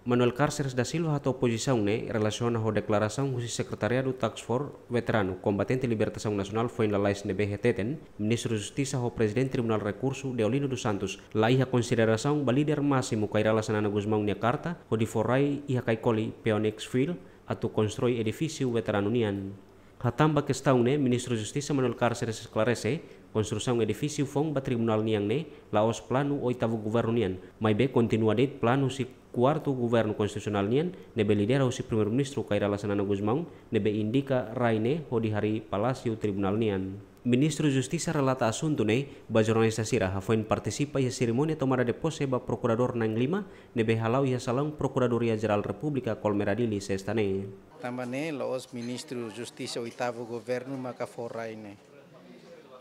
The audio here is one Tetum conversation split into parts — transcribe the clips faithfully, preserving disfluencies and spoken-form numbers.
Manuel Carceres da Silva hato'o pozisaun ne'e relasiona ho deklarasaun husi Sekretariadu Task Force Veteranu Kombatente Libertasaun Nasionál foin lalais ne'ebé hateten, Ministru Justisa ho Prezidente Tribunál Rekursu Deolino dos Santos la iha konsiderasaun ba líder másimu Kay Rala Xanana Gusmão nia karta hodi fó rai iha Caicoli, Phoenix Field, atu konstrui edifísiu veteranu nian. Hatán ba kestaun ne'e, Ministru Justisa Manuel Carceres esklarese, konstrusaun edifísiu foun ba tribunál nian ne'e la'ós planu oitavu governu nian, maibé kontinua de'it planu husi kuartu governu konstitusionál nian, ne'ebé lidera husi Primeiru-Ministru Kay Rala Xanana Gusmão, ne'ebé indika rai ne'e hodi harii palásiu tribunál nian. Ministru Justisa relata asuntu ne'e ba jornalista sira hafoin partisipa iha serimónia tomada de pose ba prokuradór na'in-lima, ne'ebé hala'o iha salaun Prokuradoria Jerál Repúblika Colmera Dili, sesta ne'e. Tanba ne'e la'ós Ministru Justisa oitavu governu maka fó rai ne'e.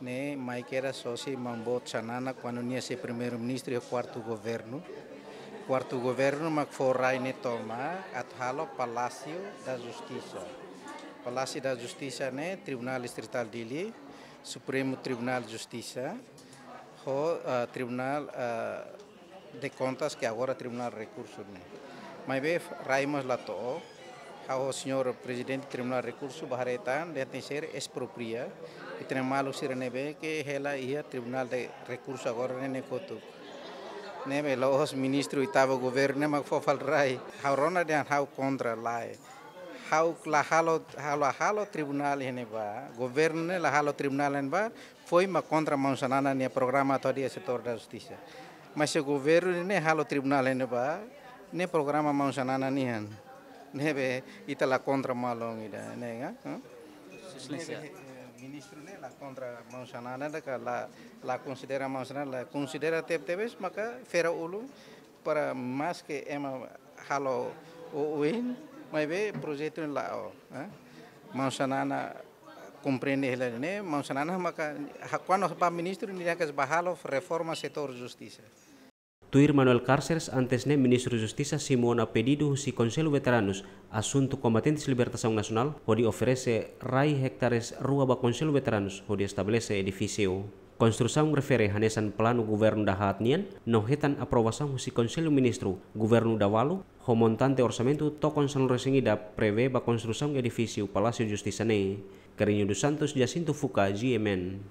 Ne'e mai kedas husi maun boot Xanana kuandu nia sei Primeiru-Ministru iha kuartu governu. Kuartu governu mak fó rai ne'e tomak atu halo Palásiu da Justisa. Palásiu da Justisa ne'e Tribunál Distritál Dili, Supremu Tribunál Justisa, ho, ah, Tribunál, ah, de Kontas, ke agora Tribunál Rekursu ne'e. Maibé rai mós la to'o, ha'u ho señór Prezidente Tribunál Rekursu bá haree tan, dehan tenkesér espropria, i tenke malu sira ne'ebé ke hela iha Tribunál de Rekursu agora ne'e, ne'e kotuk. Ne'ebé la'ós Ministru oitavu governu ne'e mak fó fali rai. Ha'u rona dehan ha'u kontra, lae. Ha'u la halo, ha'u la halo tribunál iha ne'ebá, governu ne'e la halo tribunál iha ne'ebá, foin mak kontra maun Xanana nia programa atu hadi'a setór da justisa. Mas se governu ne'e halo tribunál iha ne'ebá, ne'e programa maun Xanana nian. Ne'ebé ita la kontra malu ida, ne'e ka? Hah? Exelénsia. Ne'ebé, eh, ministru ne'e la kontra maun Xanana, ida ka la, la konsidera maun Xanana, la konsidera tebetebes, maka fera ulun para maske ema halo oioin, maibé projetu ne'e la'o, eh? Maun Xanana komprende hela ne'e, maun Xanana maka, ha, kuandu bá ministru nia hanesan bá halo reforma setór justisa. Tuir Manuel Carceres, antes ne'e Ministru Justisa simu ona pedidu husi Konsellu Veteranus Asuntu Kombatentes Libertasaun Nasionál hodi oferese rai ektares rua ba Konsellu Veteranus hodi estabelese edifísiu. Konstrusaun refere hanesan planu governu dahaat nian, no hetan aprovasaun husi Konsellu Ministru, governu dahuluk, ho montante orsamentu tokon sanulu-resin-ida prevee ba konstrusaun edifísiu Palásiu Justisa ne'e. Carrinho dos Santos, Jacinto Fuca, G M N.